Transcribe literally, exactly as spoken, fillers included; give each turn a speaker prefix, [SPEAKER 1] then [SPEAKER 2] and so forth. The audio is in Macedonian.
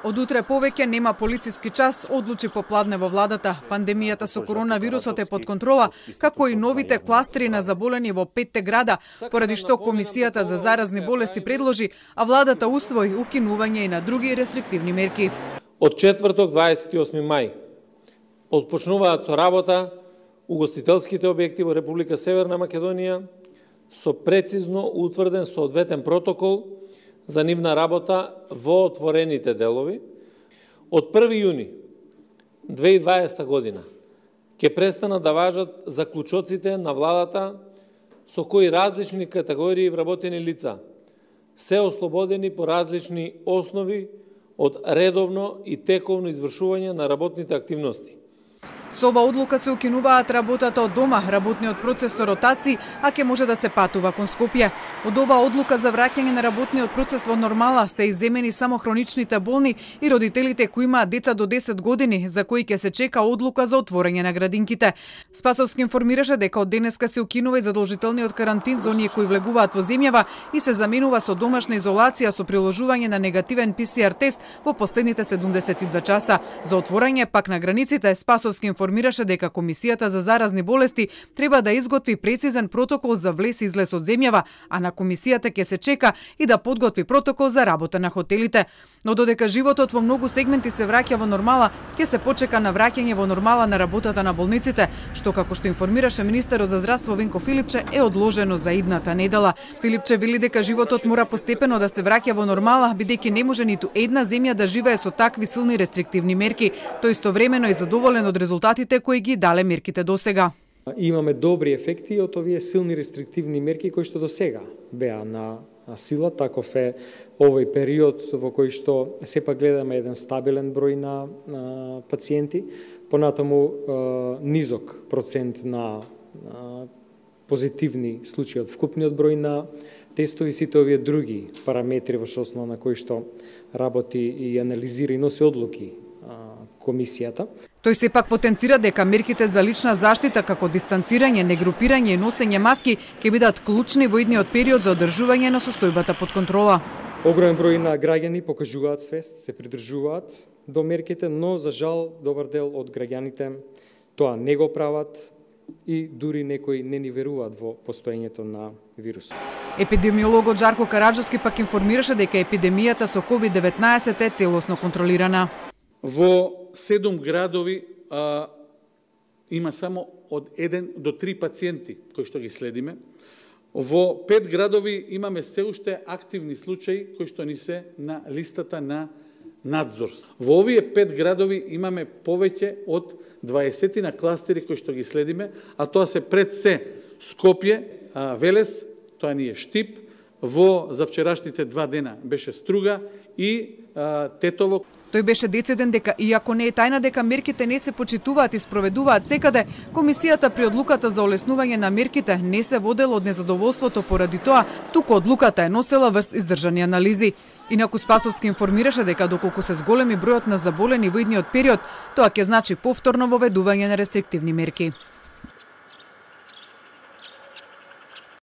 [SPEAKER 1] Од утре повеќе нема полициски час, одлучи попладне во владата. Пандемијата со коронавирусот е под контрола, како и новите кластери на заболени во петте града, поради што Комисијата за заразни болести предложи, а владата усвои укинување и на други рестриктивни мерки.
[SPEAKER 2] Од четврток дваесет и осми мај отпочнуваат со работа угостителските објекти во Република Северна Македонија со прецизно утврден соодветен протокол за нивна работа во отворените делови. Од први јуни две илјади и дваесета година ќе престанат да важат заклучоците на владата со кои различни категории вработени лица се ослободени по различни основи од редовно и тековно извршување на работните активности.
[SPEAKER 1] Со ова одлука се укинуваат работата од дома, работниот процес со ротации, а ќе може да се патува кон Скопје. Од оваа одлука за враќање на работниот процес во нормала се изземени само хроничните болни и родителите кои имаат деца до десет години, за кои ќе се чека одлука за отворање на градинките. Спасовски информираше дека од денеска се укинува и задолжителниот карантин за оние кои влегуваат во земјава и се заменува со домашна изолација со приложување на негативен Пи Си Ар тест во последните седумдесет и две часа. За отворање пак на границите Спасовски информираше дека Комисијата за заразни болести треба да изготви прецизен протокол за влез и излез од земјава, а на Комисијата ќе се чека и да подготви протокол за работа на хотелите. Но додека животот во многу сегменти се враќа во нормала, ќе се почека на враќање во нормала на работата на болниците, што како што информираше министерот за здравство Венко Филипче е одложено за идната недела. Филипче вели дека животот мора постепено да се враќа во нормала, бидејќи не може ниту една земја да живее со такви силни рестриктивни мерки. Тој истовремено е задоволен од резултатите кои ги дале мерките до сега.
[SPEAKER 3] Имаме добри ефекти од овие силни рестриктивни мерки кои што до сега беа на сила, таков е овој период во кој што сепак гледаме еден стабилен број на, на пациенти, понатаму е, низок процент на, на позитивни случаи од вкупниот број на тестови, сите овие други параметри во основа на кои што работи и анализира и носи одлуки Комисијата.
[SPEAKER 1] Тој сепак потенцира дека мерките за лична заштита како дистанцирање, негрупирање и носење маски ќе бидат клучни во идниот период за одржување на состојбата под контрола.
[SPEAKER 3] Огромен број на граѓани покажуваат свест, се придржуваат до мерките, но за жал добар дел од граѓаните тоа не го прават и дури некои не ни веруваат во постоењето на вирусот.
[SPEAKER 1] Епидемиологот Жарко Караджовски пак информираше дека епидемијата со ковид деветнаесет е целосно контролирана.
[SPEAKER 4] Во седум градови а, има само од еден до три пациенти кои што ги следиме. Во пет градови имаме се уште активни случаи кои што ни се на листата на надзор. Во овие пет градови имаме повеќе од дваесет на кластери кои што ги следиме, а тоа се пред се Скопје, а, Велес, тоа ни е Штип, во завчерашните два дена беше Струга и а, Тетово.
[SPEAKER 1] Тој беше дециден дека, иако не е тајна дека мерките не се почитуваат и спроведуваат секаде, Комисијата при одлуката за олеснување на мерките не се водела од незадоволството поради тоа, туку одлуката е носела врз издржани анализи. Инаку Спасовски информираше дека доколку се зголеми бројот на заболени во идниот период, тоа ќе значи повторно воведување на рестриктивни мерки.